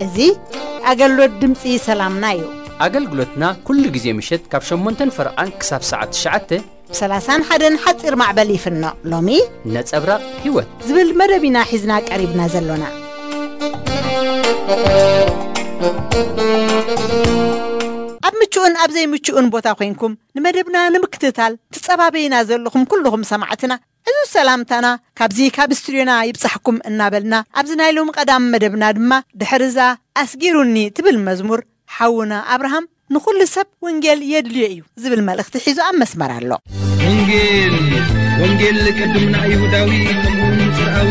እዚ ኣገልግሎት ድምፂ ሰላምና እዩ። ኣገልግሎትና ኩሉ ግዜ ምሸት ካብ ሸሞንተን ፈረቓን ክሳብ ሰዓት ትሽዓተ ብ ሰላሳን ሓደን ሓፂር ማዕበል ይፍኖ። ሎሚ ነጸብራቕ ህይወት ዝብል መደብ ኢና ሒዝና ቀሪብና ዘሎና። ኣብ ምቹእን ኣብ ዘይምቹእን ቦታ ኮይንኩም ንመደብና ንምክትታል ትጸባበዩና ዘለኹም ኩልኹም ሰማዕትና፣ ዕዙዝ ሰላምታና ካብዚ ካብ ስቱድዮና ይብጻሕኩም እናበልና፣ ኣብዚ ናይ ሎሚ ቀዳም መደብና ድማ ድሕሪ እዛ ኣስጊሩኒ ትብል መዝሙር፣ ሓውና ኣብርሃም ንኹሉ ሰብ ወንጌል የድልዮ እዩ ዝብል መልእኽቲ ሒዙ ኣብ መስመር ኣሎ። ወንጌል፣ ወንጌል ቅድም ንኣይሁዳዊ ከምኡውን ንጽርኣዊ፣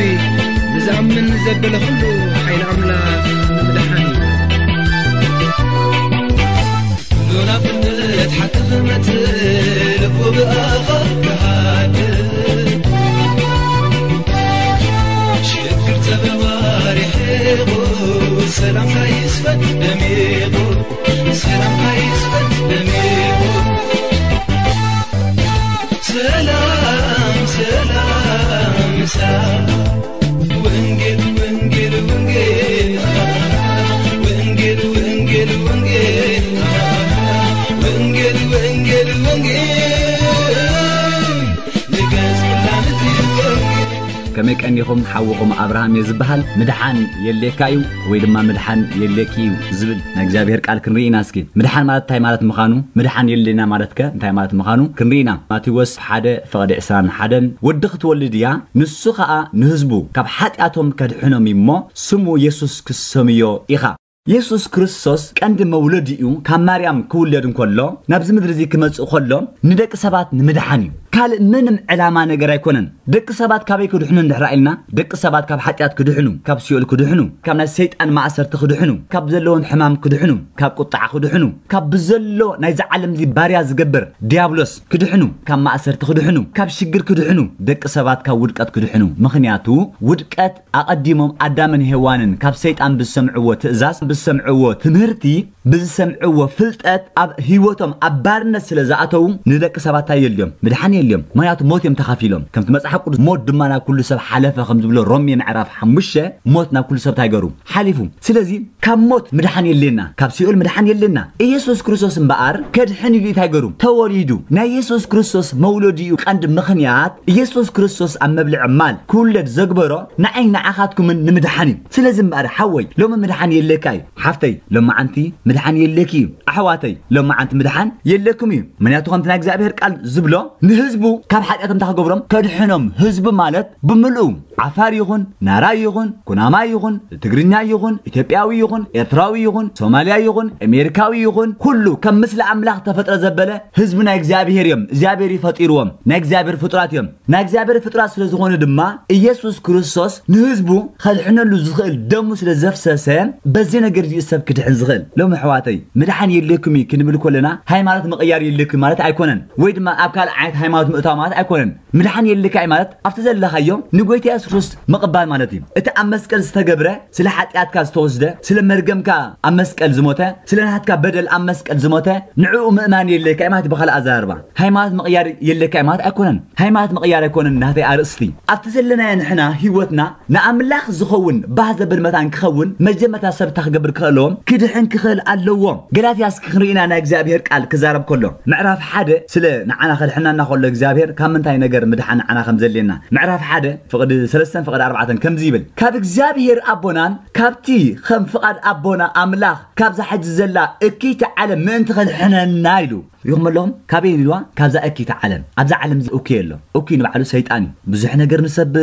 ንዝኣምን ዘበለ ኩሉ ሓይሊ ኣምላኽ ንምድሓን እዩ። ኩሉ ናብነት ሓቂ ዝመጽእ ልቡ ብኣኻ ክሃድእ። ሽግር ጸበባ ርሒቑ፣ ሰላምካ ይስፈን ደሚቑ፣ ሰላምካ ይስፈን ደሚቑ። ሰላም፣ ሰላም፣ ሰላም። ወንጌል፣ ወንጌል፣ ወንጌል። ወንጌል፣ ወንጌል፣ ወንጌል። ወንጌል፣ ወንጌል፣ ወንጌል። ንገጽ ኩላ ምድሪ ወንጌል። ከመይ ቀኒኹም? ሓውኹም ኣብርሃም እየ ዝበሃል። ምድሓን የድልየካ እዩ ወይ ድማ ምድሓን የድልየኪ እዩ ዝብል ናይ እግዚኣብሔር ቃል ክንርኢ ኢና። እስኪ ምድሓን ማለት እንታይ ማለት ምዃኑ፣ ምድሓን የድልየና ማለት ከ እንታይ ማለት ምዃኑ ክንርኢ ኢና። ማቴዎስ ሓደ ፍቕዲ ዕስራን ሓደን፣ ወዲ ክትወልድ እያ፣ ንሱ ኸኣ ንህዝቡ ካብ ሓጢኣቶም ከድሕኖም እዩ እሞ፣ ስሙ የሱስ ክሰምዮ ኢኻ። የሱስ ክርስቶስ ቀንዲ መውለዲኡ ካብ ማርያም ክውለድ እንከሎ፣ ናብዚ ምድሪ እዚ ክመጽእ ከሎ፣ ንደቂ ሰባት ንምድሓን እዩ። ካልእ ምንም ዕላማ ነገር ኣይኮነን። ደቂ ሰባት ካበይ ክድሕኑ እንድሕር ኢልና፣ ደቂ ሰባት ካብ ሓጢኣት ክድሕኑ፣ ካብ ሲኦል ክድሕኑ፣ ካብ ናይ ሰይጣን ማእሰርቲ ክድሕኑ፣ ካብ ዘለዎም ሕማም ክድሕኑ፣ ካብ ቁጥዓ ክድሕኑ፣ ካብ ብዘሎ ናይዚ ዓለም እዚ ባርያ ዝገብር ዲያብሎስ ክድሕኑ፣ ካብ ማእሰርቲ ክድሕኑ፣ ካብ ሽግር ክድሕኑ፣ ደቂ ሰባት ካብ ውድቀት ክድሕኑ። ምኽንያቱ ውድቀት ኣቐዲሞም ኣዳምን ሄዋንን ካብ ሰይጣን ብዝሰምዕዎ ትእዛዝ፣ ብዝሰምዕዎ ትምህርቲ፣ ብዝሰምዕዎ ፍልጠት ኣብ ህይወቶም ኣብ ባርነት ስለ ዝኣተዉ ንደቂ ሰባት እንታይ የልዮም? ምድሓን የልዮም። ምኽንያቱ ሞት እዮም ተኻፊሎም። ከምቲ መጽሓፍ ቅዱስ ሞት ድማ ናብ ኩሉ ሰብ ሓለፈ ከም ዝብሎ ሮሜ ምዕራፍ ሓሙሽተ ሞት ናብ ኩሉ ሰብ እንታይ ገሩ? ሓሊፉ። ስለዚ ካብ ሞት ምድሓን የድልየና፣ ካብ ሲኦል ምድሓን የድልየና። ኢየሱስ ክርስቶስ እምበኣር ከድሕን ኢሉ እንታይ ገሩ? ተወሊዱ። ናይ ኢየሱስ ክርስቶስ መውለዲኡ ቀንዲ ምኽንያት ኢየሱስ ክርስቶስ ኣብ መብልዒ ማል ክውለድ ዘግበሮ ንዓይ ንዓኻትኩምን ንምድሓን እዩ። ስለዚ እምበኣር ሓወይ ሎሚ ምድሓን የድልየካ እዩ። ሓፍተይ ሎማዓንቲ ምድሓን የድልየኪ እዩ። ኣሕዋተይ ሎማዓንቲ ምድሓን የድልየኩም እዩ። ምኽንያቱ ከምቲ ናይ እግዚኣብሔር ቃል ዝብሎ ንህዝቡ ካብ ሓጢኣቶም እንታይ ክገብሮም? ከድሕኖም። ህዝቡ ማለት ብምልኡ ዓፋር ይኹን፣ ናራይ ይኹን፣ ኩናማይ ይኹን፣ ትግርኛ ይኹን፣ ኢትዮጵያዊ ይኹን፣ ኤርትራዊ ይኹን፣ ሶማልያ ይኹን፣ ኣሜሪካዊ ይኹን፣ ኩሉ ከም ምስሊ ኣምላኽ ተፈጥረ ዘበለ ህዝቢ ናይ እግዚኣብሔር እዮም። እግዚኣብሔር እዩ ፈጢርዎም። ናይ እግዚኣብሔር ፍጡራት እዮም። ናይ እግዚኣብሔር ፍጡራት ስለ ዝኾኑ ድማ ኢየሱስ ክርስቶስ ንህዝቡ ከድሕነሉ ዝኽእል ደሙ ስለ ዘፍሰሰ በዚ ነገር እዚ ሰብ ክድሕን ዝኽእል። ሎም ኣሕዋተይ ምድሓን የድልየኩም እዩ ክንብል ከለና ሃይማኖት ምቕያር የድልየኩም ማለት ኣይኮነን። ወይ ድማ ኣብ ካልእ ዓይነት ሃይማኖት ምእታው ማለት ኣይኮነን። ምድሓን የድልየካ እዩ ማለት ኣብቲ ዘለኻዮ ንጎይታ የሱስ ክርስቶስ ምቕባል ማለት እዩ። እቲ ኣብ መስቀል ዝተገብረ ስለ ሓጢኣትካ ዝተወስደ፣ ስለ መርገምካ ኣብ መስቀል ዝሞተ፣ ስለ ናትካ በደል ኣብ መስቀል ዝሞተ፣ ንዕኡ ምእማን የድልየካ እዩ ማለት እዩ። ብኻልእ ኣዘራርባ ሃይማኖት ምቕያር የድልየካ እዩ ማለት ኣይኮነን። ሃይማኖት ምቕያር ኣይኮነን ናተይ ኣርእስቲ። ኣብቲ ዘለናዮ ንሕና ህይወትና ንኣምላኽ ዝኸውን ባህ ዘብል መታን ክኸውን መጀመርታ ሰብ እንታይ ክገብር ክኽእል ኣለዎም? ክድሕን ክኽእል ኣለዎም። ገላትያ እስኪ ክንርኢና ናይ እግዚኣብሔር ቃል ክዛረብ ከሎ ምዕራፍ ሓደ ስለ ንዓና ከድሕነና ከሎ እግዚኣብሔር ካብ ምንታይ ነገር ምድሓን ንዓና ከም ዘድልየና ምዕራፍ ሓደ ፍቕዲ ሰለስተን ፍቕዲ ኣርባዕተን ከምዚ ይብል፣ ካብ እግዚኣብሔር ኣቦናን ካብቲ ከም ፍቓድ ኣቦና ኣምላኽ ካብዛ ሕጂ ዘላ እክይቲ ዓለም ምእንቲ ከድሕነና ኢሉ ይኹም ኣለኹም። ካበይ ኢልዋ? ካብዛ እክይቲ ዓለም። ኣብዛ ዓለም እዚ እኩይ ኣሎ። እኩይ ንባዕሉ ሰይጣን እዩ። ብዙሕ ነገር ንሰብ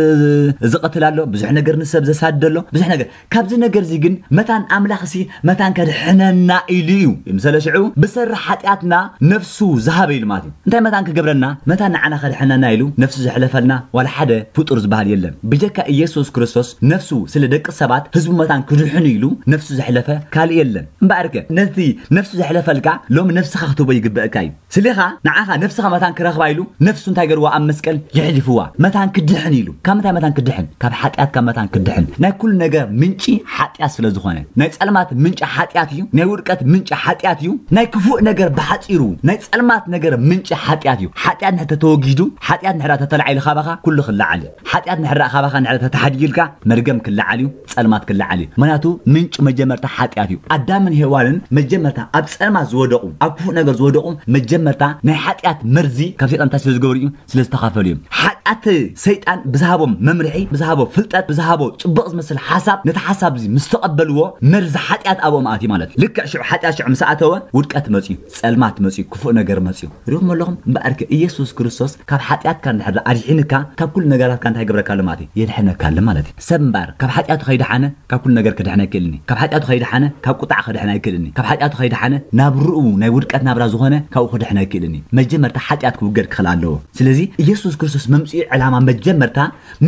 ዝቐትል ኣሎ፣ ብዙሕ ነገር ንሰብ ዘሳድድ ኣሎ፣ ብዙሕ ነገር። ካብዚ ነገር እዚ ግን መታን ኣምላኽ ሲ መታን ከድሕነና ኢሉ እዩ። ምሰለ ሽዑ ብሰሪ ሓጢኣትና ነፍሱ ዝሃበ ኢሉ ማለት እዩ። እንታይ መታን ክገብረና? መታን ንዓና ከድሕነና ኢሉ ነፍሱ ዘሕለፈልና ዋላ ሓደ ፍጡር ዝበሃል የለን። ብጀካ ኢየሱስ ክርስቶስ ነፍሱ ስለ ደቂ ሰባት ህዝቡ መታን ክድሕኑ ኢሉ ነፍሱ ዘሕለፈ ካልእ የለን። እምበኣርከ ነቲ ነፍሱ ዘሕለፈልካ ሎሚ ነፍስኻ ክትህቦ ይግበእካ እዩ። ስሊኻ ንዓኻ ነፍስኻ መታን ክረኽባ ኢሉ ነፍሱ እንታይ ገርዋ ኣብ መስቀል የሕሊፍዋ። መታን ክድሕን ኢሉ። ካብ ምንታይ መታን ክድሕን? ካብ ሓጢኣትካ መታን ክድሕን። ናይ ኩሉ ነገር ምንጪ ሓጢኣት ስለ ዝኾነ፣ ናይ ጸልማት ምንጪ ሓጢኣት እዩ። ናይ ውድቀት ምንጪ ሓጢኣት እዩ። ናይ ክፉእ ነገር ብሓጺሩ፣ ናይ ጸልማት ነገር ምንጪ ሓጢኣት እዩ። ሓጢኣት ንሕተ ተወጊዱ፣ ሓጢኣት ንሕዳ ተተላዒሉ ካባኻ ኩሉ ክለዓል እዩ። ሓጢኣት ንሕዳ ካባኻ ንሕዳ ተተሓዲጊልካ መርገም ክለዓል እዩ፣ ጸልማት ክለዓል እዩ። ምክንያቱ ምንጭ መጀመርታ ሓጢኣት እዩ። ኣዳምን ሄዋንን መጀመርታ ኣብ ጸልማት ዝወደቑ፣ ኣብ ክፉእ ነገር ዝወደቑ መጀመርታ ናይ ሓጢኣት መርዚ ካብ ሰይጣን እንታይ ስለ ዝገበሩ እዩ? ስለ ዝተኻፈሉ እዮም። ሓጢኣት ሰይጣን ብዝሃቦም መምርሒ፣ ብዝሃቦ ፍልጠት፣ ብዝሃቦ ጽቡቕ ዝመስል ሓሳብ፣ ነቲ ሓሳብ እዚ ምስ ተቐበልዎ መርዚ ሓጢኣት ኣብኦም ኣትዩ ማለት እዩ። ልክዕ ሽዑ ሓጢኣት ሽዑ ምስ ኣተወ ውድቀት መጽዩ፣ ጸልማት መጽዩ፣ ክፉእ ነገር መጽዩ። ሪኹም ኣለኹም? እምበኣርከ ኢየሱስ ክርስቶስ ካብ ሓጢኣትካ እንድሕር ኣድሒንካ ካብ ኩሉ ነገራትካ እንታይ ይገብረካ ኣሎ ማለት እዩ? የድሕነካ ኣሎ ማለት እዩ። ሰብ እምበኣር ካብ ሓጢኣቱ ከይደሓነ ካብ ኩሉ ነገር ክድሕን ኣይክእልን እዩ። ካብ ሓጢኣቱ ከይደሓነ ካብ ቁጣዕ ክድሕን ኣይክእልን እዩ። ካብ ሓጢኣቱ ከይደሓነ ናብ ርኡ ናይ ውድቀት ናብራ ዝኾነ ካብኡ ክድሕን ኣይክእልን እዩ። መጀመርታ ሓጢኣት ክውገድ ክኽእል ኣለዎ። ስለዚ ኢየሱስ ክርስቶስ መምጽኡ ዕላማ መጀመርታ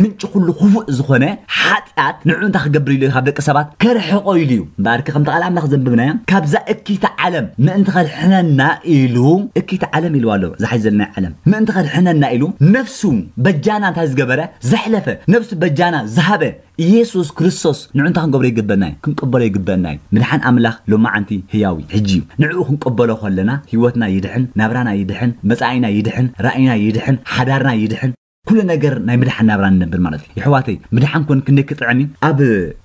ምንጪ ኩሉ ክፉእ ዝኾነ ሓጢኣት ንዕኡ እንታይ ክገብር ኢሉ እዩ? ካብ ደቂ ሰባት ከርሕቆ ኢሉ እዩ። እምበኣር ከምቲ ቃል ኣምላኽ ዘንብብናዮ ካብዛ እኪታ ዓለም ምእንቲ ከድሕነና ኢሉ እኪታ ዓለም ኢልዋ ኣሎ። እዛ ሓዚ ዘለና ዓለም ምእንቲ ከድሕነና ኢሉ ነፍሱ በጃና እንታይ ዝገበረ ዘሕለፈ ነፍሱ በጃና ዝሃበ ኢየሱስ ክርስቶስ ንዑ እንታይ ክንገብሮ ይግበና እዩ? ክንቅበሎ ይግበና እዩ። ምድሓን ኣምላኽ ሎማዓንቲ ህያው እዩ፣ ሕጂ እዩ። ንዕኡ ክንቅበሎ ከለና ህይወትና ይድሕን፣ ናብራና ይድሕን፣ መጻኢና ይድሕን፣ ራእይና ይድሕን፣ ሓዳርና ይድሕን፣ ኩሉ ነገር ናይ ምድሓን ናብራ ንነብር ማለት እዩ። የሕዋተይ ምድሓን ኮን ክንደይ ክጥዕም እዩ? ኣብ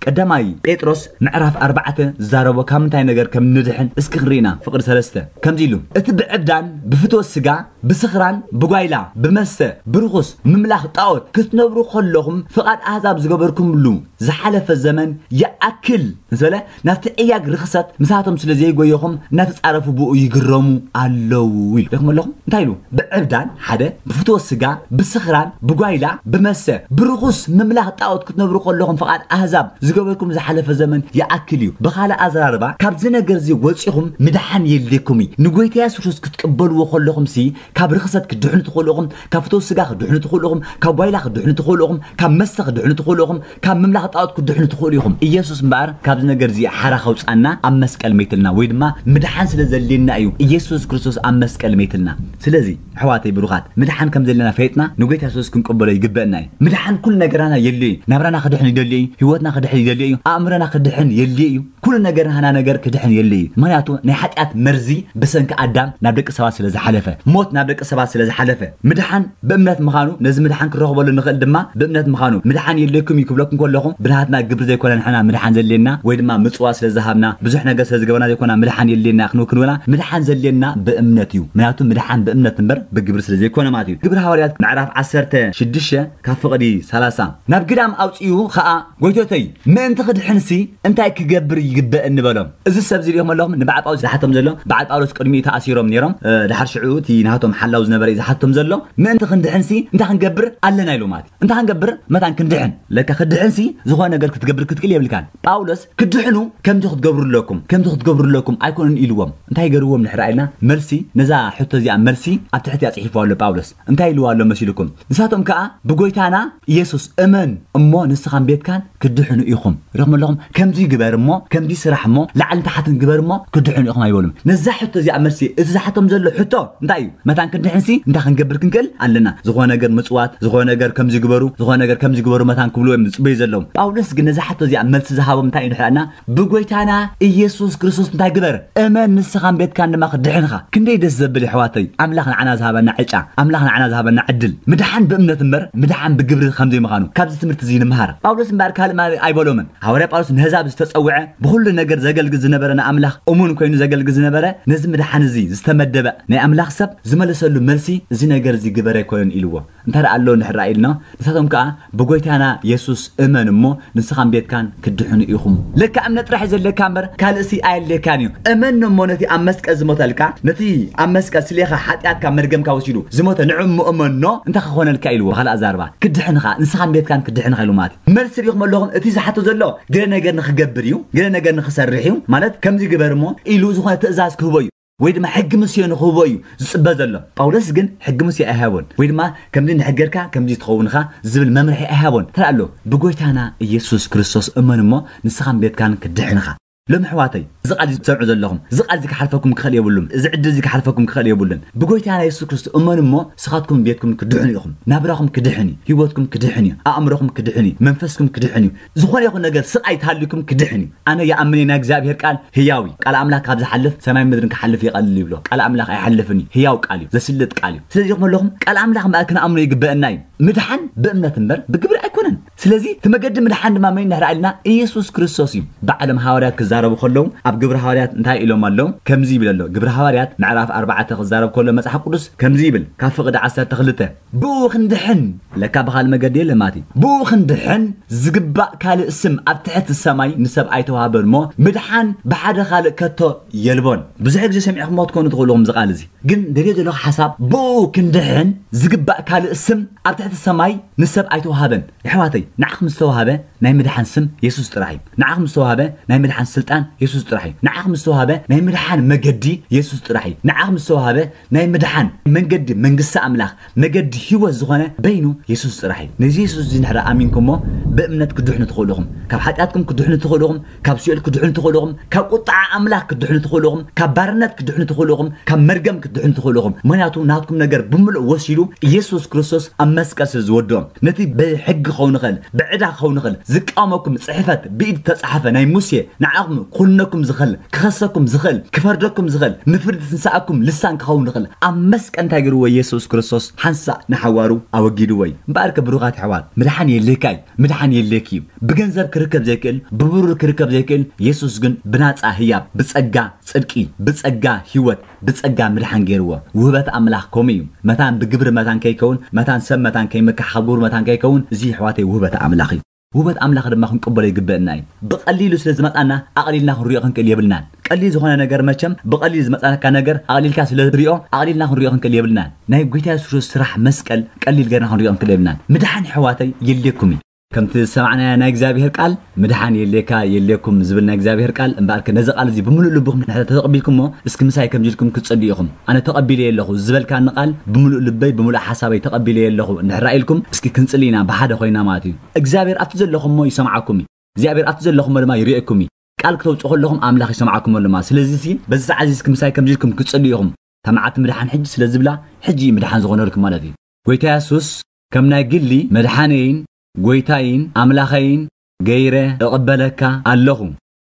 ቀዳማይ ጴጥሮስ ምዕራፍ ኣርባዕተ ዝዛረቦ ካብ ምንታይ ነገር ከም ንድሕን እስኪ ክንርኢና። ፍቕዲ ሰለስተ ከምዚ ኢሉ፣ እቲ ብዕብዳን ብፍትወት ስጋ ብስኽራን ብጓይላ ብመስተ ብርኹስ ምምላኽ ጣዖት ክትነብሩ ከለኹም ፍቓድ ኣህዛብ ዝገበርኩምሉ ዝሓለፈ ዘመን ይኣክል ምስ በለ ናብቲ ዕያግ ርኽሰት ምሳቶም ስለ ዘይጎየኹም እናተጻረፉ ብኡ ይግረሙ ኣለዉ ኢሉ። ሪኹም ኣለኹም እንታይ ኢሉ? ብዕብዳን ሓደ ብፍትወት ስጋ ብስኽራን ብጓይላ ብመስተ ብርኹስ ምምላኽ ጣዖት ክትነብሩ ከለኹም ፍቓድ ኣህዛብ ዝገበርኩም ዝሓለፈ ዘመን ይኣክል እዩ። ብኻልእ ኣዘራርባ ካብዚ ነገር እዚ ወጺኹም ምድሓን የድልየኩም እዩ። ንጎይታ የሱስ ክርስቶስ ክትቅበልዎ ከለኹም ሲ ካብ ርኽሰት ክድሕኑ ትኽእሉ ኢኹም፣ ካብ ፍትወት ስጋ ክድሕኑ ትኽእሉ ኢኹም፣ ካብ ጓይላ ክድሕኑ ትኽእሉ ኢኹም፣ ካብ መስተ ክድሕኑ ትኽእሉ ኢኹም፣ ካብ ምምላኽ ጣዖት ክድሕኑ ትኽእሉ ኢኹም። ኢየሱስ እምበኣር ካብዚ ነገር እዚ ሓራ ከውጻና ኣብ መስቀል መይትልና ወይ ድማ ምድሓን ስለ ዘድልየና እዩ ኢየሱስ ክርስቶስ ኣብ መስቀል መይትልና። ስለዚ ኣሕዋተይ ብሩኻት ምድሓን ከም ዘለና ፈይጥና ንጎይታ የሱስ ክንቅበሎ ይግበእና እዩ። ምድሓን ኩሉ ነገራና የድልዮ እዩ። ናብራና ክድሕን ይደልዮ እዩ። ህይወትና ክድሕን ይደልዮ እዩ። ኣእምሮና ክድሕን የድልዮ እዩ። ኩሉ ነገር ናህና ነገር ክድሕን የድልዮ እዩ። ምኽንያቱ ናይ ሓጢኣት መርዚ ብሰንኪ ኣዳም ናብ ደቂ ሰባት ስለ ዝሓለፈ፣ ሞት ናብ ደቂ ሰባት ስለ ዝሓለፈ ምድሓን ብእምነት ምዃኑ ነዚ ምድሓን ክንረኽበሉ ንኽእል ድማ ብእምነት ምዃኑ ምድሓን የድልየኩም እዩ ክብለኩም ከለኹ ብናትና ግብሪ ዘይኮነ ንሕና ምድሓን ዘድልየና ወይ ድማ ምጽዋ ስለ ዝሃብና ብዙሕ ነገር ስለ ዝገበርና ዘይኮና ምድሓን የድልየና ክንብል ክንብላ ምድሓን ዘድልየና ብእምነት እዩ። ምኽንያቱ ምድሓን ብእምነት እምበር ብግብሪ ስለ ዘይኮነ ማለት እዩ። ግብሪ ሃዋርያት ምዕራፍ ዓሰርተ ሽዱሽተ ካብ ፍቕዲ ሰላሳ ናብ ግዳም ኣውጽኡ ኸኣ ጎይቶተይ ምእንቲ ክድሕንሲ እንታይ ክገብር ይግበእኒ በሎም። እዚ ሰብ እዚ ሪኦም ኣለኹም ንበዓል ጳውሎስ ዝሓቶም ዘሎ በዓል ጳውሎስ ቅድሚኡ ተኣሲሮም ነይሮም። እ፣ ድሓር ሽዑ እቲ ናቶም ሓላው ዝነበረ እዩ ዝሓቶም ዘሎ ምእንቲ ክንድሕንሲ እንታይ ክንገብር ኣለና ኢሉ ማለት እዩ። እንታይ ክንገብር መታን ክንድሕን ለካ ክድሕንሲ ዝኾነ ነገር ክትገብር ክትክእል የብልካን። ጳውሎስ ክድሕኑ ከምዚ ክትገብሩ ኣለኩም ከምዚ ክትገብሩ ኣለኩም ኣይኮኑን ኢልዎም። እንታይ ገርዎም ንሕራ ኢልና መልሲ ነዛ ሕቶ እዚኣ መልሲ ኣብ ትሕቲ ኣጽሒፉ ኣሎ ጳውሎስ። እንታይ ኢልዋ ኣሎ መሲልኩም? ንሳቶም ከኣ ብጎይታና ኢየሱስ እመን እሞ ንስኻን ቤትካን ክድሕኑ ኢኹም። ሪኹም ኣለኹም ከምዚ ግበር እሞ ከምዚ ስራሕ እሞ ላዕልን ታሕትን ግበር እሞ ክድሕኑ ኢኹም ኣይበሉም። ነዛ ሕቶ እዚኣ መልሲ እቲ ዝሓቶም ዘሎ ሕቶ እንታይ እዩ? መታን ክንድሕንሲ እንታይ ክንገብር ክንክእል ኣለና? ዝኾነ ነገር ምጽዋት፣ ዝኾነ ነገር ከምዚ ግበሩ፣ ዝኾነ ነገር ከምዚ ግበሩ መታን ክብሉ እዮም ዝጽበዩ ዘለዉ። ጳውሎስ ግን ነዛ ሕቶ እዚኣ መልሲ ዝሃቦም እንታይ እዩ ንሕና ብጎይታና ኢየሱስ ክርስቶስ እንታይ ግበር እመን ንስኻን ቤትካን ድማ ክድሕንኻ። ክንደይ ደስ ዘብል የሕዋተይ ኣምላኽ ንዓና ዝሃበና ዕጫ ኣምላኽ ንዓና ዝሃበና ዕድል ምድሓን ብእምነት እምበር ምድሓን ብግብሪ ከምዘይምዃኑ ካብዚ ትምህርቲ እዚ ንምሃር። ጳውሎስ እምበኣር ካልእ ማለት ኣይበሎምን። ሃዋርያ ጳውሎስ ንህዛብ ዝተጸውዐ ብኹሉ ነገር ዘገልግል ዝነበረ ንኣምላኽ እሙን ኮይኑ ዘገልግል ዝነበረ ነዚ ምድሓን እዚ ዝተመደበ ናይ ኣምላኽ ሰብ ዝመለሰሉ መልሲ እዚ ነገር እዚ ግበር ኣይኮነን ኢልዎ። እንታይ ደኣ ኣሎ እንድሕር ኢልና ንሳቶም ከኣ ብጎይታና የሱስ እመን እሞ ንስኻን ቤትካን ክድሕኑ ኢኹም። ለካ እምነት ጥራሕ እዩ ዘድልየካ እምበር ካልእሲ ኣየድልየካን እዩ። እመን እሞ ነቲ ኣብ መስቀል ዝሞተልካ ነቲ ኣብ መስቀል ስሌኻ ሓጢኣትካ መርገምካ ወሲዱ ዝሞተ ንዑ እሞ እመኖ እንታይ ክኾነልካ ኢልዎ። ብኻልእ ኣዛርባ ክድሕንኻ ንስኻን ቤትካን ክድሕንኻ ኢሉ ማለት እዩ። መልሲ ሪኹም ኣለኹም እቲ ዝሓቶ ዘሎ ገለ ነገር ንክገብር እዩ ገለ ነገር ንክሰርሕ እዩ ማለት ከምዚ ግበር እሞ ኢሉ ዝኾነ ትእዛዝ ክህቦ እዩ። ወይ ድማ ሕጊ ሙሴ ንኽህቦ እዩ ዝጽበ ዘሎ። ጳውሎስ ግን ሕጊ ሙሴ ኣይሃቦን ወይ ድማ ከምዚ እንድሕር ጌርካ ከምዚ ትኸውን ኢኻ ዝብል መምርሒ ኣይሃቦን። እንታይ ኣሎ ብጎይታና ኢየሱስ ክርስቶስ እመን እሞ ንስኻን ቤትካን ክድሕንኻ። ሎም ኣሕዋተይ፣ እዚ ቃል እዚ ትሰምዑ ዘለኹም፣ እዚ ቃል እዚ ክሓልፈኩም ክኽእል የብሉን። እዚ ዕድል እዚ ክሓልፈኩም ክኽእል የብሉን። ብጎይታና የሱስ ክርስቶስ እመኑ እሞ፣ ንስኻትኩም ቤትኩም ክድሕኑ ኢኹም። ናብራኹም ክድሕን እዩ። ህይወትኩም ክድሕን እዩ። ኣእምሮኹም ክድሕን እዩ። መንፈስኩም ክድሕን እዩ። ዝኾነ ይኹን ነገር ስቓይ ተሃልዩኩም ክድሕን እዩ። ኣነ ይኣምን እየ፣ ናይ እግዚኣብሔር ቃል ህያው እዩ። ቃል ኣምላኽ ካብ ዝሓልፍ ሰማይ ምድርን ክሓልፍ ይቐልል ይብሎ። ቃል ኣምላኽ ኣይሓልፍን እዩ። ህያው ቃል እዩ። ዘስልጥ ቃል እዩ። ስለዚ ኢኹም ኣለኹም፣ ቃል ኣምላኽ እምበኣር ክንኣምኖ ይግበአና እዩ። ምድሓን ብእምነት እምበር ብግብሪ ኣይኮነን። ስለዚ እቲ መገዲ ምድሓን ድማ መን እንድሕር ኢልና፣ ኢየሱስ ክርስቶስ እዩ። ባዕሎም ሃዋርያት ክዛረቡ ከለዉ ኣብ ግብሪ ሃዋርያት እንታይ ኢሎም ኣለዉ? ከምዚ ይብል ኣሎ። ግብሪ ሃዋርያት ምዕራፍ ኣርባዕተ ክዛረብ ከሎ መጽሓፍ ቅዱስ ከምዚ ይብል፣ ካብ ፍቕዲ ዓሰርተ ክልተ፣ ብኡ ክንድሕን፣ ለካ ብኻልእ መገዲ የለን ማለት እዩ። ብኡ ክንድሕን ዝግባእ ካልእ ስም ኣብ ትሕቲ ሰማይ ንሰብ ኣይተዋህበን እሞ፣ ምድሓን ብሓደ ካልእ ከቶ የልቦን። ብዙሕ ግዜ ሰሚዕኹምዎ ትኮኑ ትኽእሉ ኢኹም እዚ ቃል እዚ። ግን ደልዮ ዘለኹ ሓሳብ፣ ብኡ ክንድሕን ዝግባእ ካልእ ስም ኣብ ትሕቲ ሰማይ ንሰብ ኣይተዋሃበን። የሕዋተይ፣ ንዓኹም ዝተዋሃበ ናይ ምድሓን ስም የሱስ ጥራሕ እዩ። ንዓኹም ዝተዋሃበ ናይ ምድሓን ስልጣን የሱስ ጥራሕ እዩ። ንዓኹም ዝተዋሃበ ናይ ምድሓን መገዲ የሱስ ጥራሕ እዩ። ንዓኹም ዝተዋሃበ ናይ ምድሓን መንገዲ መንግስቲ ኣምላኽ፣ መገዲ ህይወት ዝኾነ በይኑ የሱስ ጥራሕ እዩ። ነዚ የሱስ እዚ እንድሕር ኣሚንኩሞ፣ ብእምነት ክድሕኑ ትኽእሉ ኢኹም። ካብ ሓጢኣትኩም ክድሕኑ ትኽእሉ ኢኹም። ካብ ሲኦል ክድሕኑ ትኽእሉ ኢኹም። ካብ ቁጥዓ ኣምላኽ ክድሕኑ ትኽእሉ ኢኹም። ካብ ባርነት ክድሕኑ ትኽእሉ ኢኹም። ካብ መርገም ክድሕኑ ትኽእሉ ኢኹም። ምኽንያቱ ናትኩም ነገር ብምሉእ ወሲዱ ኢየሱስ ክርስቶስ ኣብ መስቀል ስለ ዝወድኦም። ነቲ ብሕጊ ክኸውን ይኽእል፣ ብዕዳ ክኸውን ይኽእል፣ ዝቃወመኩም ጽሕፈት፣ ብኢድ ዝተጻሕፈ ናይ ሙሴ፣ ንዓኹም ክኹንነኩም ዝኽእል፣ ክኸሰኩም ዝኽእል፣ ክፈርደኩም ዝኽእል፣ ንፍርዲ ትንሳኣኩም ልሳን ክኸውን ይኽእል። ኣብ መስቀል እንታይ ገይርዎ? ኢየሱስ ክርስቶስ ሓንሳእ ንሓዋሩ ኣወጊድዎ እዩ። እምበኣርከ ብሩኻት ኣሕዋት፣ ምድሓን የድልየካ እዩ። ምድሓን የድልየኪ እዩ። ብገንዘብ ክርከብ ዘይክእል፣ ብብሩር ክርከብ ዘይክእል፣ የሱስ ግን ብናጻ ህያብ፣ ብጸጋ ጽድቂ፣ ብጸጋ ህይወት፣ ብጸጋ ምድሓን ገይርዎ። ውህበት ኣምላኽ ከምኡ እዩ። መታን ብግብሪ መታን ከይከውን፣ መታን ሰብ መታን ከይምካሕ፣ ካብ ግብሩ መታን ከይከውን፣ እዚ ኣሕዋተይ ውህበት ኣምላኽ እዩ። ውህበት ኣምላኽ ድማ ክንቅበሎ ይግበአና እዩ። ብቐሊሉ ስለ ዝመጻና ኣቕሊልና ክንሪኦ ክንክእል የብልናን። ቀሊል ዝኾነ ነገር መቸም ብቐሊል ዝመጻካ ነገር ኣቕሊልካ ስለ ትሪኦ ኣቕሊልና ክንሪኦ ክንክእል የብልናን። ናይ ጎይታ የሱስ ክርስቶስ ስራሕ መስቀል ቀሊል ገርና ክንሪኦ ክንክእል የብልናን። ምድሓን ኣሕዋተይ የድልየኩም እዩ። ከምቲ ዝሰማዕናዮ ናይ እግዚኣብሔር ቃል ምድሓን የድልየካ የድልየኩም ዝብል ናይ እግዚኣብሔር ቃል እምበኣርከ ነዚ ቃል እዚ ብምሉእ ልብኹም እንድሕር ተተቐቢልኩሞ እስኪ ምሳይ ከምዚ ኢልኩም ክትጽልዩ ኢኹም። ኣነ ተቐቢለዮ ኣለኹ ዝበልካኒ ቃል ብምሉእ ልበይ ብምሉእ ሓሳበይ ተቐቢለዮ ኣለኹ እንድሕር ኢልኩም እስኪ ክንጽሊ ኢና ብሓደ ኮይና ማለት እዩ። እግዚኣብሔር ኣብቲ ዘለኹሞ ይሰምዓኩም እዩ። እግዚኣብሔር ኣብቲ ዘለኹሞ ድማ ይርእየኩም እዩ። ቃል ክተውፅኡ ከለኹም ኣምላኽ ይሰምዓኩም ኣሎ ማለት። ስለዚ ሲ በዚ ሰዓት እዚ እስኪ ምሳይ ከምዚ ኢልኩም ክትጽልዩ ኢኹም። እታ መዓልቲ ምድሓን ሕጂ ስለ ዝብላ ሕጂ እዩ ምድሓን ዝኾነልኩም ማለት እዩ። ጎይታ የሱስ ከም ናይ ግሊ መድሓነይን ጎይታይን ኣምላኸይን ገይረ እቕበለካ ኣለኹ።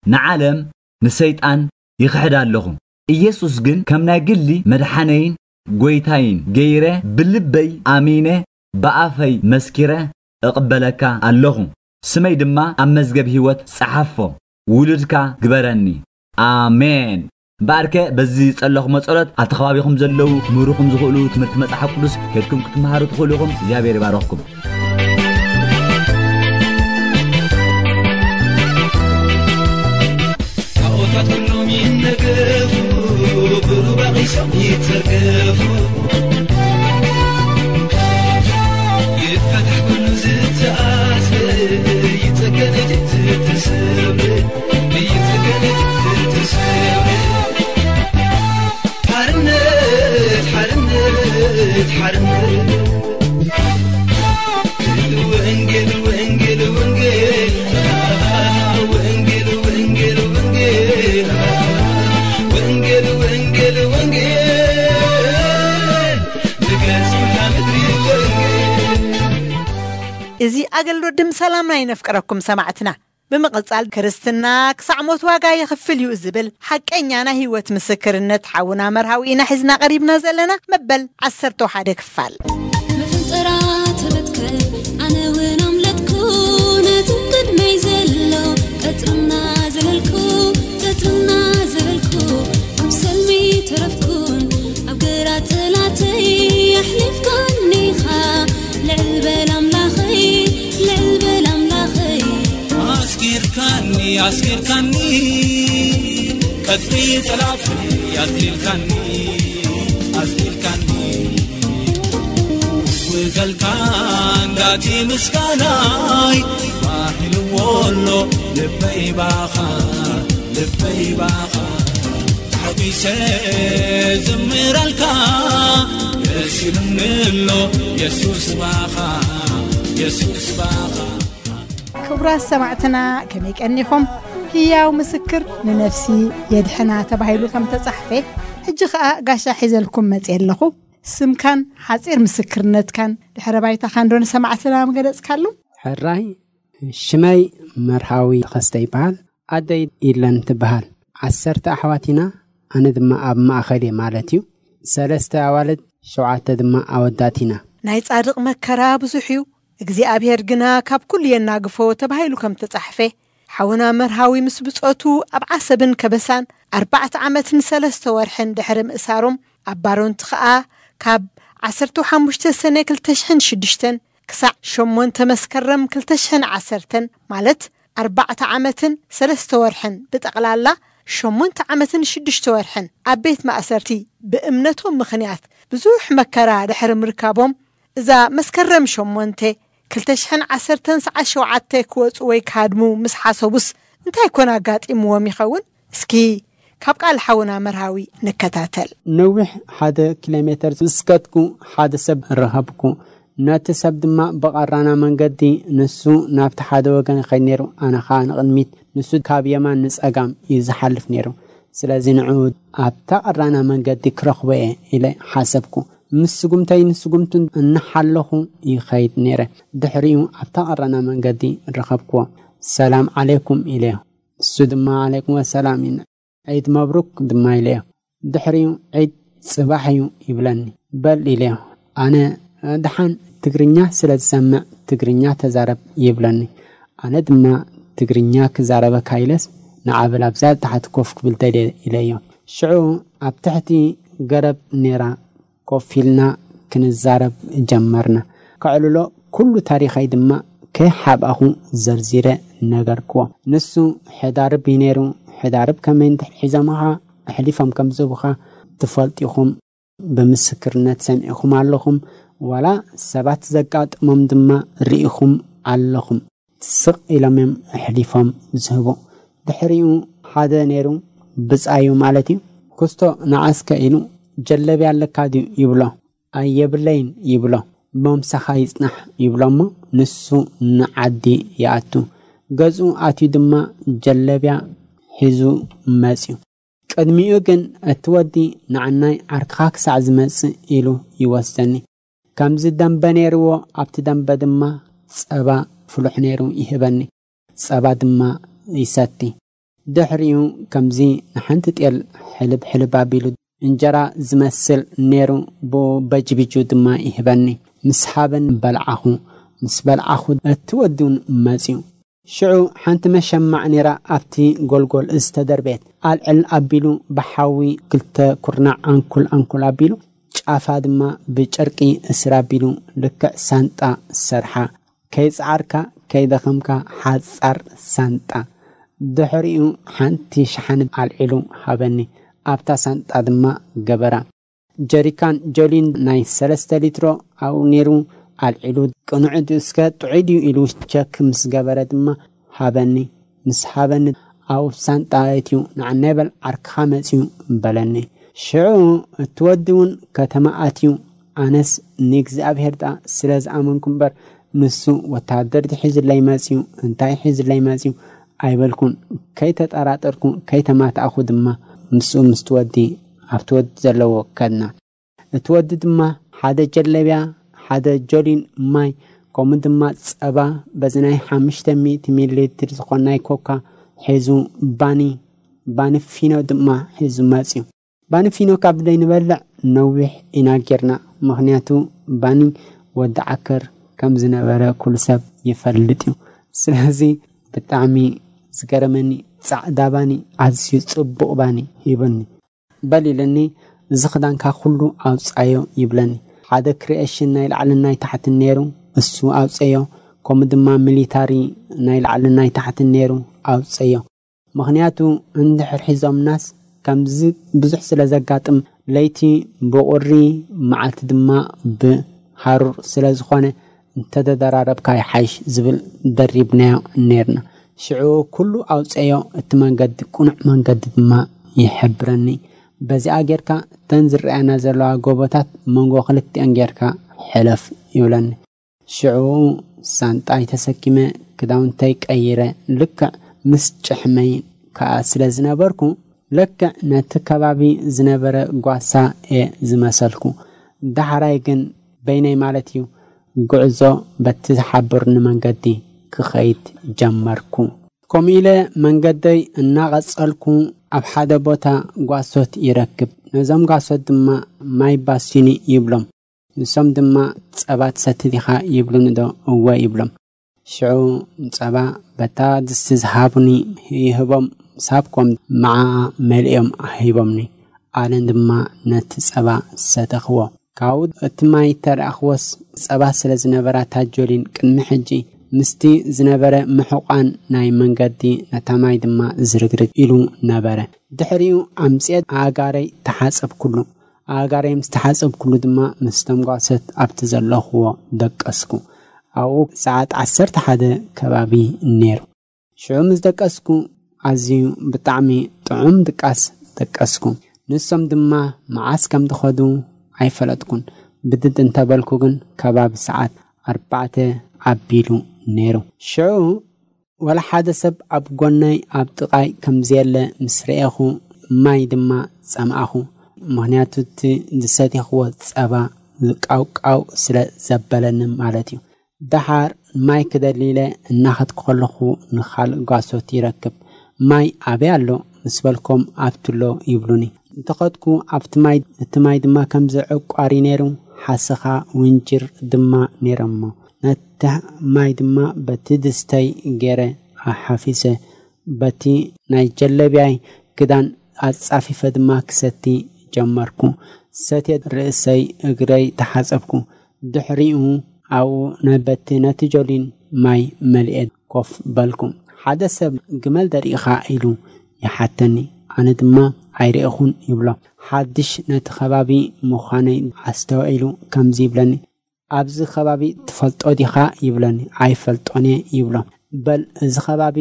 ንዓለም ንሰይጣን ይኽሕድ ኣለኹ። ኢየሱስ ግን ከም ናይ ግሊ መድሓነይን ጎይታይን ገይረ ብልበይ ኣሚነ ብኣፈይ መስኪረ እቕበለካ ኣለኹ። ስመይ ድማ ኣብ መዝገብ ህይወት ጸሓፎ። ውሉድካ ግበረኒ። ኣሜን። እምበኣርከ በዚ ዝጸለኹሞ ጸሎት ኣብቲ ከባቢኹም ዘለዉ ክምህሩኹም ዝኽእሉ ትምህርቲ መጽሓፍ ቅዱስ ከድኩም ክትመሃሩ ትኽእሉ ኢኹም። እግዚኣብሔር ይባረኽኩም። ታቦታት ኩሎም ይነገፉ፣ ብሩባ ቒሶም ይተርገፉ። ይፈታሕ ኩሉ ዝተኣስረ፣ ይጸገን እቲ ዝተሰብረ፣ ይጸገን እቲ ዝተሰብረ። ሓርነት፣ ሓርነት፣ ሓርነት። ወንጌል፣ ወንጌል፣ ወንጌል። ወንጌል፣ ወንጌል፣ ወንጌል። ወንጌል፣ ወንጌል፣ ወንጌል። ንግለጽ ኩላ ምድሪ ወንጌል። እዚ ኣገልግሎት ድምፂ ሰላምና ይነፍቅረኩም ሰማዕትና። ብምቕጻል ክርስትና ክሳዕ ሞት ዋጋ የኽፍል እዩ ዝብል ሓቀኛ ናይ ህይወት ምስክርነት ሓውና መርሃዊ ኢና ሒዝና ቀሪብና ዘለና መበል ዓሰርተ ሓደ ክፋል። መፈንጠራ ተበትከ ኣነ እውን ኣምለጥኩ ነቲ ቅድመይ ዘሎ ቀጽርና ዘለልኩ ቀጽርና ዘለልኩ ኣብ ሰልሚ ተረፍኩን ኣብ ግራ ጠላተይ ኣሕሊፍካኒኻ ልዕል በል ኣምላኸይ ልዕል በል ኣምላኸይ ኣስጊርካኒ ኣስጊርካኒ ቀጽሪ ጠላተይ ኣዝሊልካኒ ኣዝሊልካኒ ውዘልካ እንዳቲ ምስጋናይ ባሂልዎ ኣሎ ልበይ ባኻ ልበይ ባኻ ተሓጒሰ ዝምረልካ ደስ ኢሉኒ ኣሎ የሱስ ባኻ የሱስ ባኻ። ክቡራት ሰማዕትና ከመይ ቀኒኹም? ህያው ምስክር ንነፍሲ የድሕና ተባሂሉ ከም ተጻሕፈ፣ ሕጂ ኸኣ ጋሻ ሒዘልኩም መጽየ ኣለኹ። ስምካን ሓጺር ምስክርነትካን ድሕረ ባይታኻን ዶ ንሰማዕትና ምገለጽካሉ? ሕራይ፣ ሽመይ መርሃዊ ተኸስተ ይበሃል። ኣደይ ኢለን ትበሃል። ዓሰርተ ኣሕዋት ኢና፣ ኣነ ድማ ኣብ ማእኸል እየ ማለት እዩ። ሰለስተ ኣዋልድ፣ ሸውዓተ ድማ ኣወዳት ኢና። ናይ ጻድቕ መከራ ብዙሕ እዩ፣ እግዚኣብሔር ግና ካብ ኩሉ የናግፎ ተባሂሉ ከም ተጻሕፈ፣ ሓውና መርሃዊ ምስ ብጾቱ ኣብ ዓሰብን ከበሳን ኣርባዕተ ዓመትን ሰለስተ ወርሕን ድሕሪ ምእሳሮም፣ ኣብ ባሮንት ኸኣ ካብ ዓሰርተ ሓሙሽተ ሰነ ክልተ ሽሕን ሽዱሽተን ክሳዕ ሸሞንተ መስከረም ክልተ ሽሕን ዓሰርተን፣ ማለት ኣርባዕተ ዓመትን ሰለስተ ወርሕን፣ ብጠቕላላ ሸሞንተ ዓመትን ሽዱሽተ ወርሕን ኣብ ቤት ማእሰርቲ ብእምነቶም ምኽንያት ብዙሕ መከራ ድሕሪ ምርካቦም፣ እዛ መስከረም ሸሞንተ ክልተ ሽሕን ዓሰርተን ሰዓት ሸውዓተ ክወጹ ወይ ክሃድሙ ምስ ሓሰቡስ እንታይ ኮን ኣጋጢምዎም ይኸውን? እስኪ ካብ ቃል ሓውና መርሃዊ ንከታተል። ነዊሕ ሓደ ኪሎ ሜተር ምስ ከድኩ ሓደ ሰብ ረኸብኩ። ነቲ ሰብ ድማ ብቐራና መንገዲ፣ ንሱ ናብቲ ሓደ ወገን ይኸይድ ነይሩ፣ ኣነ ኸኣ ንቕድሚት፣ ንሱ ካብ የማን ንጸጋም እዩ ዝሓልፍ ነይሩ። ስለዚ ንዕኡ ኣብታ ቀራና መንገዲ ክረኽቦ እየ ኢለ ሓሰብኩ። ምስ ስጉምተይን ስጉምቱን እናሓለኹ ይኸይድ ነይረ። ድሕሪኡ ኣብታ ቀራና መንገዲ ረኸብክዎ። "ሰላም ዓሌኩም" ኢለዮ። እሱ ድማ "ዓሌኩም ወሰላም" ኢሉ፣ "ዒድ መብሩክ" ድማ ኢለዮ። ድሕሪኡ "ዒድ ጽባሕ እዩ" ይብለኒ። "በል" ኢለዮ። ኣነ "ደሓን ትግርኛ ስለ ዝሰምዕ ትግርኛ ተዛረብ" ይብለኒ። ኣነ ድማ "ትግርኛ ክዛረበካ ኢለስ ንዓ በል ኣብዛ ታሕቲ ኮፍ ክብል ደልየ" ኢለዮ። ሽዑ ኣብ ትሕቲ ገረብ ነይራ ኮፍ ኢልና ክንዛረብ ጀመርና። ከዕልሎ ኩሉ ታሪኸይ ድማ ከይሓብኣኹ ዘርዚረ ነገርክዎ። ንሱ ሕዳርብ እዩ ነይሩ። ሕዳርብ ከመይ እንተ ሒዞምኻ ኣሕሊፎም ከም ዝህቡኻ ትፈልጡ ኢኹም። ብምስክርነት ሰሚዕኹም ኣለኹም። ዋላ ሰባት ዘጋጥሞም ድማ ርኢኹም ኣለኹም። ስቕ ኢሎም እዮም ኣሕሊፎም ዝህቡ። ድሕሪኡ ሓደ ነይሩ፣ ብጻዩ ማለት እዩ። "ክስቶ ንዓስከ?" ኢሉ፣ "ጀለብያ ኣለካ ድዩ?" ይብሎ። "ኣየብለይን" ይብሎ። "ሞምሳኻ ይጽናሕ" ይብሎ እሞ ንሱ ንዓዲ ይኣቱ። ገዝኡ ኣትዩ ድማ ጀለብያ ሒዙ መጽዩ። ቅድሚኡ ግን እቲ ወዲ "ንዓናይ ዓርክኻ ክሳዕ ዝመጽእ" ኢሉ ይወስደኒ። ከምዚ ደንበ ነይርዎ፣ ኣብቲ ደንበ ድማ ጸባ ፍሉሕ ነይሩ ይህበኒ። ጸባ ድማ ይሰቲ። ድሕሪኡ ከምዚ ንሓንቲ ጤል ሕልብ ሕልብ ኣቢሉ እንጀራ ዝመስል ነይሩ፣ ብኡ በጅቢጁ ድማ ይህበኒ። ምስ ሃበኒ በልዓኹ። ምስ በልዓኹ እቲ ወዲ እውን መጽዩ። ሽዑ ሓንቲ መሸማዕ ነይራ ኣብቲ ጎልጎል ዝተደርበየት። ኣልዕል ኣቢሉ ብሓዊ ክልተ ኩርናዕ ኣንኩል ኣንኩል ኣቢሉ፣ ጫፋ ድማ ብጨርቂ እስር ኣቢሉ ልክዕ ሳንጣ ሰርሓ። ከይጸዓርካ ከይደኸምካ ሓጻር ሳንጣ። ድሕሪኡ ሓንቲ ሸሓኒ ኣልዒሉ ሃበኒ። ኣብታ ሳንጣ ድማ ገበራ። ጀሪካን ጆሊን ናይ ሰለስተ ሊትሮ ኣብኡ ነይሩ። ኣልዒሉ "ቅኑዕ ድዩ እስከ ጥዑይ ድዩ?" ኢሉ ቸክ ምስ ገበረ ድማ ሃበኒ። ምስ ሃበኒ ኣብኡ ሳንጣ ኣእትዩ "ንዓናይ በል ዓርክኻ መጽዩ" በለኒ። ሽዑ እቲ ወዲ እውን ከተማ ኣትዩ። ኣነስ ንእግዚኣብሔር ደኣ ስለ ዝኣመንኩ እምበር፣ ንሱ ወተሃደር ድዩ ሒዙለይ መጽዩ፣ እንታይ ሒዙለይ መጽዩ ኣይበልኩን። ከይተጠራጠርኩ፣ ከይተማታእኩ ድማ ምስኡ ምስቲ ወዲ ኣብቲ ወዲ ዘለዎ ከድና። እቲ ወዲ ድማ ሓደ ጀለብያ፣ ሓደ ጆሊን ማይ፣ ከምኡ ድማ ጸባ፣ በዚ ናይ ሓሙሽተ ሚእቲ ሚሊ ሊትር ዝኾን ናይ ኮካ ሒዙ፣ ባኒ፣ ባኒ ፊኖ ድማ ሒዙ መጽዩ። ባኒ ፊኖ ካብ ዘይንበልዕ ነዊሕ ኢና ጌርና፣ ምኽንያቱ ባኒ ወዲ ዓከር ከም ዝነበረ ኩሉ ሰብ ይፈልጥ እዩ። ስለዚ ብጣዕሚ ዝገረመኒ፣ ጻዕዳ ባኒ፣ ኣዝዩ ጽቡቕ ባኒ ሂቡኒ። "በል" ኢሉኒ፣ "እዚ ክዳንካ ኩሉ ኣውጻዮ" ይብለኒ። ሓደ ክሪኤሽን ናይ ላዕልን ናይ ታሕትን ነይሩ፣ እሱ ኣውጸዮ። ከምኡ ድማ ሚሊታሪ ናይ ላዕልን ናይ ታሕትን ነይሩ፣ ኣውጸዮ። ምኽንያቱ እንድሕር ሒዞምናስ ከምዚ ብዙሕ ስለ ዘጋጥም፣ ለይቲ ብቑሪ፣ መዓልቲ ድማ ብሃሩር ስለ ዝኾነ፣ "እንተተደራረብካ ይሓይሽ" ዝብል ደሪብናዮ ነይርና። ሽዑ ኩሉ ኣውጸዮ፣ እቲ መንገዲ ቅኑዕ መንገዲ ድማ ይሕብረኒ። በዚኣ ጌርካ እተን ዝረኣያና ዘለዋ ጎቦታት መንጎ ክልቲኣን ጌርካ ሕለፍ ይብለኒ። ሽዑ ሳንጣይ ተሰኪመ፣ ክዳውንተይ ቀይረ፣ ልክዕ ምስ ጭሕመይ ከኣ ስለ ዝነበርኩ፣ ልክዕ ነቲ ከባቢ ዝነበረ ጓሳ እየ ዝመሰልኩ። ዳሕራይ ግን በይነይ ማለት እዩ፣ ጉዕዞ በቲ ዝሓበሩኒ መንገዲ ክኸይድ ጀመርኩ። ከምኡ ኢለ መንገደይ እናቐጸልኩ፣ ኣብ ሓደ ቦታ ጓሶት ይረክብ። ነዞም ጓሶት ድማ ማይ ባሲኒ ይብሎም። ንሶም ድማ፣ "ጸባ ትሰቲ ዲኻ?" ይብሉኒ ዶ? "እወ" ይብሎም። ሽዑ ጸባ በታ ድስቲ ዝሃቡኒ ይህቦም፣ ሳብኮም መዓኣ መሊኦም ሂቦምኒ። ኣነ ድማ ነቲ ጸባ ሰተኽዎ። ካብኡ እቲ ማይ ተረኣኽዎስ፣ ጸባ ስለ ዝነበራ፣ ታጆሊን ቅድሚ ሕጂ ምስቲ ዝነበረ ምሕቋን ናይ መንገዲ፣ ነታ ማይ ድማ ዝርግርግ ኢሉ ነበረ። ድሕሪኡ ኣምጽኤ ኣእጋረይ ተሓጸብኩሉ። ኣእጋረይ ምስ ተሓጸብኩሉ ድማ፣ ምስቶም ጓሶት ኣብቲ ዘለኽዎ ደቀስኩ። ኣብኡ ሰዓት ዓሰርተ ሓደ ከባቢ ነይሩ። ሽዑ ምስ ደቀስኩ፣ ኣዝዩ ብጣዕሚ ጥዑም ድቃስ ደቀስኩ። ንሶም ድማ መዓስ ከም ዝኸዱ ኣይፈለጥኩን። ብድድ እንተበልኩ ግን፣ ከባቢ ሰዓት ኣርባዕተ ኣቢሉ ነይሩ። ሽዑ ወላ ሓደ ሰብ ኣብ ጎነይ፣ ኣብ ጥቓይ ከም ዘየለ ምስ ረኤኹ፣ ማይ ድማ ጸምኣኹ። ምኽንያቱ፣ እቲ ዝሰቴኽዎ ጸባ ዝቃውቃው ስለ ዘበለኒ ማለት እዩ። ደሓር ማይ ክደሊ ኢለ እናኸድኩ ከለኹ፣ ንኻልእ ጓሶት ይረክብ። "ማይ ኣበይ ኣሎ?" ምስ በልኮም፣ "ኣብቲ ኣሎ" ይብሉኒ። እንተኸድኩ ኣብቲ ማይ፣ እቲ ማይ ድማ ከምዚ ዕቋሪ ነይሩ፣ ሓሰኻ ውንጅር ድማ ነይሮሞ። ነቲ ማይ ድማ በቲ ድስተይ ገይረ ኣሓፊሰ፣ በቲ ናይ ጀለብያይ ክዳን ኣጻፊፈ ድማ ክሰቲ ጀመርኩ። ሰትየ ርእሰይ እግረይ ተሓጸብኩ። ድሕሪኡ ኣብኡ ናይ በቲ ነቲ ጆሊን ማይ መሊኤ ኮፍ በልኩ። ሓደ ሰብ፣ "ግመል ደሪእኻ?" ኢሉ ይሓተኒ። ኣነ ድማ፣ "ኣይረእኹን" ይብሎ። ሓድሽ ነቲ ከባቢ ምዃነይ ኣስተውዒሉ ከምዚ ይብለኒ፣ "ኣብዚ ከባቢ ትፈልጦ ዲኻ?" ይብለኒ። "ኣይፈልጦን እየ" ይብሎ። "በል፣ እዚ ከባቢ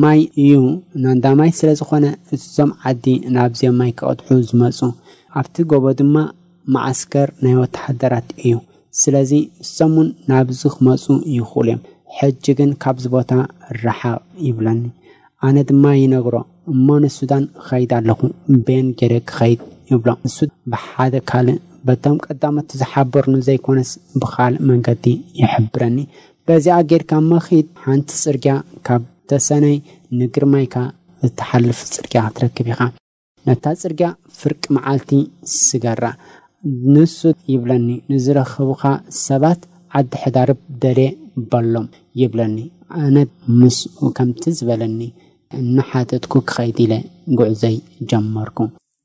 ማይ እዩ፣ ናንዳ ማይ ስለ ዝኾነ፣ እዞም ዓዲ ናብዚኦም ማይ ክቐድሑ ዝመጹ፣ ኣብቲ ጎቦ ድማ መዓስከር ናይ ወተሃደራት እዩ። ስለዚ እሶም እውን ናብዚ ክመጹ ይኽእሉ እዮም። ሕጂ ግን ካብዚ ቦታ ርሓቕ" ይብለኒ። ኣነ ድማ ይነግሮ፣ "እሞ ንሱዳን እኸይድ ኣለኹ፣ በየን ገይረ ክኸይድ?" ይብሎ። ንሱ ብሓደ ካልእ፣ በቶም ቀዳሞት ዝሓበሩኒ ዘይኮነስ፣ ብኻልእ መንገዲ ይሕብረኒ። "በዚኣ ጌርካ እሞ ኺድ፣ ሓንቲ ጽርግያ ካብ ተሰነይ ንግርማይካ እትሓልፍ ጽርግያ ክትረክብ ኢኻ። ነታ ጽርግያ ፍርቂ መዓልቲ ስገራ። ንሱ" ይብለኒ፣ "ንዝረኽቡኻ ሰባት ዓዲ ሕዳርብ ደልየ በሎም" ይብለኒ። ኣነ ምስኡ ከምቲ ዝበለኒ እናሓተትኩ ክኸይድ ኢለ ጉዕዘይ ጀመርኩ።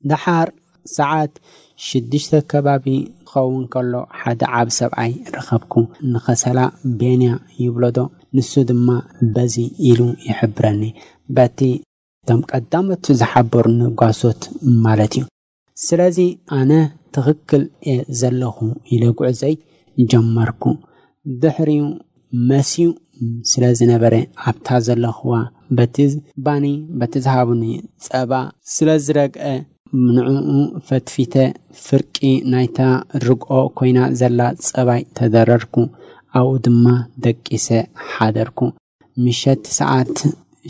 ደሓር ሰዓት ሽዱሽተ ከባቢ ክኸውን ከሎ፣ ሓደ ዓቢ ሰብኣይ ረኸብኩ። "ንኸሰላ ቤንያ ይብሎ ዶ?" ንሱ ድማ በዚ ኢሉ ይሕብረኒ። በቲ እቶም ቀዳሞት ዝሓበሩኒ ጓሶት ማለት እዩ። ስለዚ ኣነ ትኽክል እየ ዘለኹ ኢለ ጉዕዘይ ጀመርኩ። ድሕሪኡ መስዩ ስለ ዝነበረ፣ ኣብታ ዘለኽዋ በቲ ባኒ፣ በቲ ዝሃቡኒ ጸባ ስለ ዝረግአ፣ ንዕኡ ፈትፊተ፣ ፍርቂ ናይታ ርግኦ ኮይና ዘላ ጸባይ ተደረርኩ። ኣብኡ ድማ ደቂሰ ሓደርኩ። ምሸት ሰዓት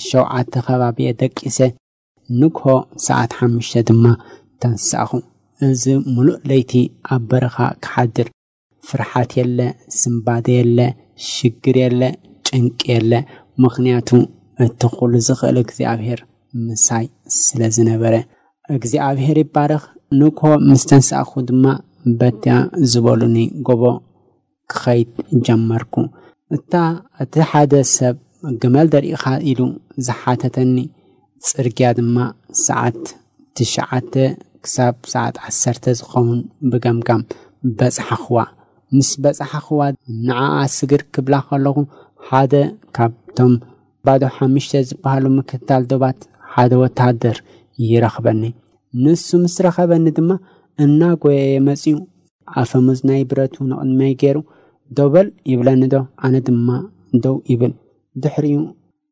ሸውዓተ ከባቢ እየ ደቂሰ። ንግሆ ሰዓት ሓሙሽተ ድማ ተንሳእኹ። እዚ ሙሉእ ለይቲ ኣብ በረኻ ክሓድር፣ ፍርሓት የለ፣ ስንባደ የለ፣ ሽግር የለ፣ ጭንቂ የለ። ምኽንያቱ፣ እቲ ኩሉ ዝኽእል እግዚኣብሔር ምሳይ ስለ ዝነበረ። እግዚኣብሔር ይባረኽ። ንግሆ ምስ ተንሳእኹ ድማ፣ በትያ ዝበሉኒ ጎቦ ክኸይድ ጀመርኩ። እታ፣ እቲ ሓደ ሰብ፣ "ግመል ደሪእኻ?" ኢሉ ዝሓተተኒ ጽርግያ ድማ፣ ሰዓት ትሽዓተ ክሳብ ሰዓት ዓሰርተ ዝኸውን ብገምጋም በጽሓኽዋ። ምስ በጽሓኽዋ፣ ንዓኣ ስግር ክብላ ከለኹ፣ ሓደ ካብቶም ባዶ ሓሙሽተ ዝበሃሉ ምክትታል ዶባት ሓደ ወተሃደር ይረኽበኒ። ንሱ ምስ ረኸበኒ ድማ፣ እናጎየየ መጺኡ፣ ኣፈሙዝ ናይ ብረቱ ንቕድመይ ገይሩ፣ "ደው በል" ይብለኒ ዶ፣ ኣነ ድማ ደው ይብል። ድሕሪኡ፣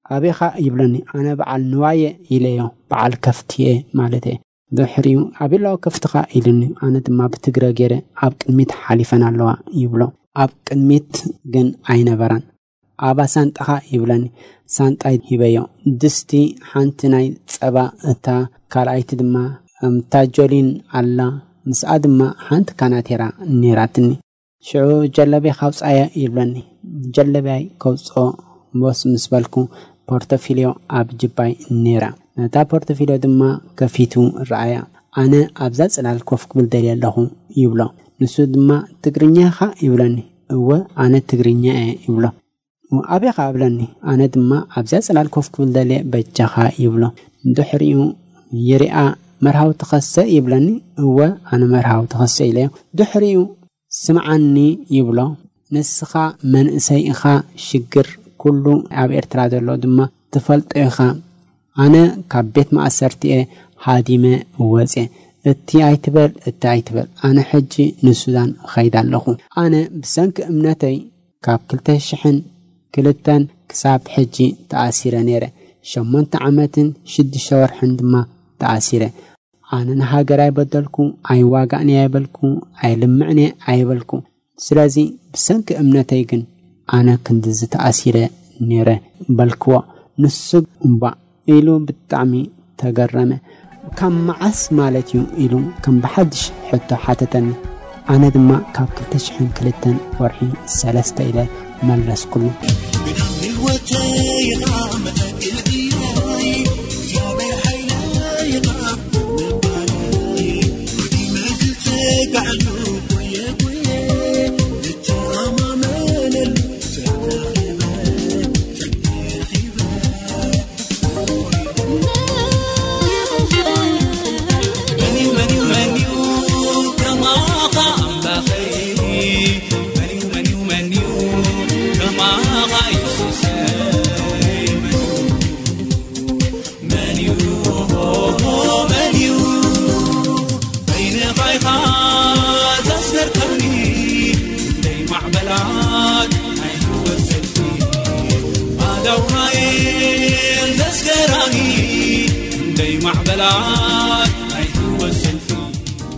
"ኣበይኻ?" ይብለኒ። ኣነ በዓል ንዋየ ኢለዮ፣ በዓል ከፍትየ ማለት እየ። ድሕሪኡ፣ "ኣበይ ኣለዋ ከፍትኻ?" ኢሉኒ። ኣነ ድማ ብትግረ ገይረ፣ "ኣብ ቅድሚት ሓሊፈን ኣለዋ" ይብሎ። ኣብ ቅድሚት ግን ኣይነበራን። ኣባ ሳንጣኻ ይብለኒ። ሳንጣይ ሂበዮ። ድስቲ ሓንቲ ናይ ጸባ፣ እታ ካልኣይቲ ድማ እምታ ጆሊን ኣላ። ምስኣ ድማ ሓንቲ ካናቴራ ነይራትኒ። ሽዑ ጀለቤ ካውጻየ ይብለኒ። ጀለቢያይ ከውጽኦ ቦስ ምስ በልኩ፣ ፖርቶፊልዮ ኣብ ጅባይ ነይራ። ነታ ፖርቶፊልዮ ድማ ከፊቱ ረኣያ። ኣነ ኣብዛ ጽላል ኮፍ ክብል ደልየ ኣለኹ ይብሎ። ንሱ ድማ ትግርኛ ኢኻ ይብለኒ። እወ ኣነ ትግርኛ እየ ይብሎ። ኣበይ ኸኣ እብለኒ። ኣነ ድማ ኣብዚኣ ጽላል ኮፍ ክብል ደልየ በጃኻ ይብሎ። ድሕሪኡ ይሪኣ መርሃዊ ትኸሰ ይብለኒ። እወ ኣነ መርሃዊ ትኸሰ ኢለዮ። ድሕሪኡ ስምዓኒ ይብሎ። ንስኻ መንእሰይ ኢኻ፣ ሽግር ኩሉ ኣብ ኤርትራ ዘሎ ድማ ትፈልጦ ኢኻ። ኣነ ካብ ቤት ማእሰርቲ እየ ሃዲመ ወፅየ። እቲ ኣይትበል፣ እቲ ኣይትበል። ኣነ ሕጂ ንሱዳን እኸይድ ኣለኹ። ኣነ ብሰንኪ እምነተይ ካብ ክልተ ሽሕን ክልተን ክሳብ ሕጂ ተኣሲረ ነይረ። ሸሞንተ ዓመትን ሽዱሽተ ወርሕን ድማ ተኣሲረ። ኣነ ንሃገር ኣይበደልኩ፣ ኣይዋጋእን ኣይበልኩ፣ ኣይልምዕን ኣይበልኩ። ስለዚ ብሰንኪ እምነተይ ግን ኣነ ክንድዚ ተኣሲረ ነይረ በልክዎ። ንሱ እምባእ ኢሉ ብጣዕሚ ተገረመ። ካብ መዓስ ማለት እዩ ኢሉ ከም ብሓድሽ ሕቶ ሓተተኒ። ኣነ ድማ ካብ ክልተ ሽሕን ክልተን ወርሒ ሰለስተ ኢለ መለስኩሉ።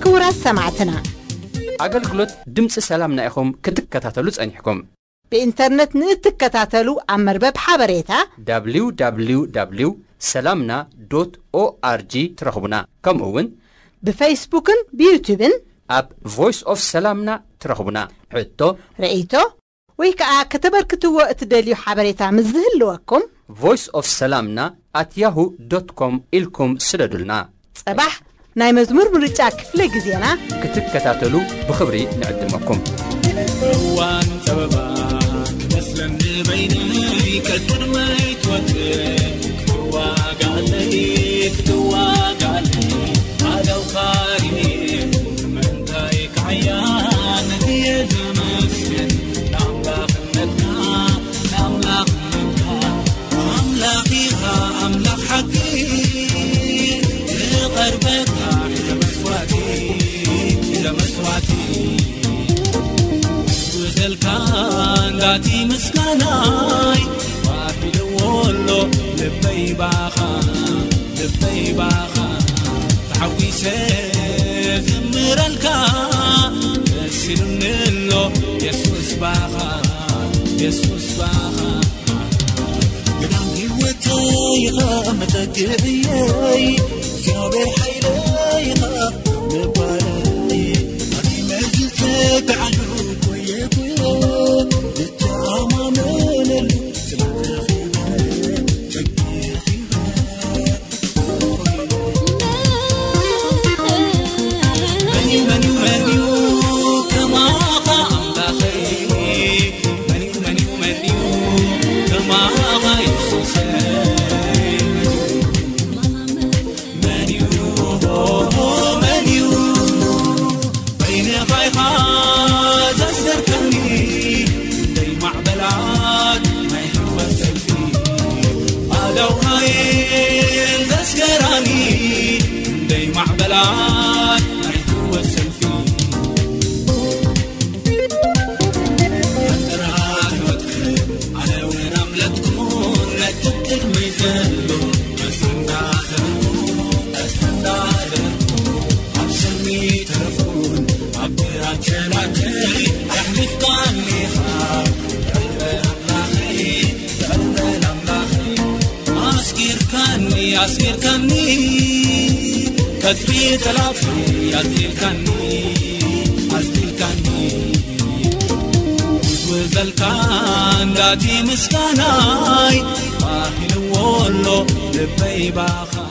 ክቡራት ሰማዕትና፣ ኣገልግሎት ድምፂ ሰላምና ኢኹም ክትከታተሉ ጸኒሕኩም። ብኢንተርነት ንእትከታተሉ ኣብ መርበብ ሓበሬታ www ሰላምና ዶት ኦኣርጂ ትረኽቡና። ከምኡ እውን ብፌስቡክን ብዩቱብን ኣብ ቮይስ ኦፍ ሰላምና ትረኽቡና። ሕቶ፣ ርእይቶ ወይ ከዓ ከተበርክትዎ እትደልዩ ሓበሬታ ምስ ዝህልወኩም voice of salamna at yahoo dot com ኢልኩም ስደዱልና። ጸባሕ ናይ መዝሙር ምርጫ ክፍለ ግዜና ክትከታተሉ ብኽብሪ ንዕድመኩም። እዋን ጸበባ ክመስለኒ በይነይ ቀድመይ ትወጽእ ክትዋጋለይ ክትዋጋለይ ኣለው ካሪኒ ምንታይ ክዓያ ነትየ ዘመስግን ንኣምላኽነትካ ንኣምላኽነትካ ኣምላኽ ኢኻ ኣምላኽ ሓቂ ዝቐርበካ ሒዘ መስዋዕቲ ሒዘ መስዋዕቲ ዝብዘልካ እንዳቲ ምስጋናይ ባሂልዎ ኣሎ ልበይ ባኻ ልበይ ባኻ ተሓጒሰ ዝምረልካ ደስ ኢሉኒ ኣሎ የሱስ ባኻ የሱስ ባኻ ግዳም ህይወተይ ኢኻ መጠግዕየይ እግዚኣብሔር ሓይለይ ኢኻ ምባለይ ኣቲ መዝተጋዓሉ ኮየ ኮየ ልተኣማመነሉ ስላተኺበ ቸግር ኣስሚርካኒ ኣስሚርካኒ ቀትሪ ጠላፍኒ ኣዝሊልካኒ ኣዝሊልካኒ ዝበልካ እንዳቲ ምስጋናይ ኣኺልዎ ኣሎ ልበይ ባኻ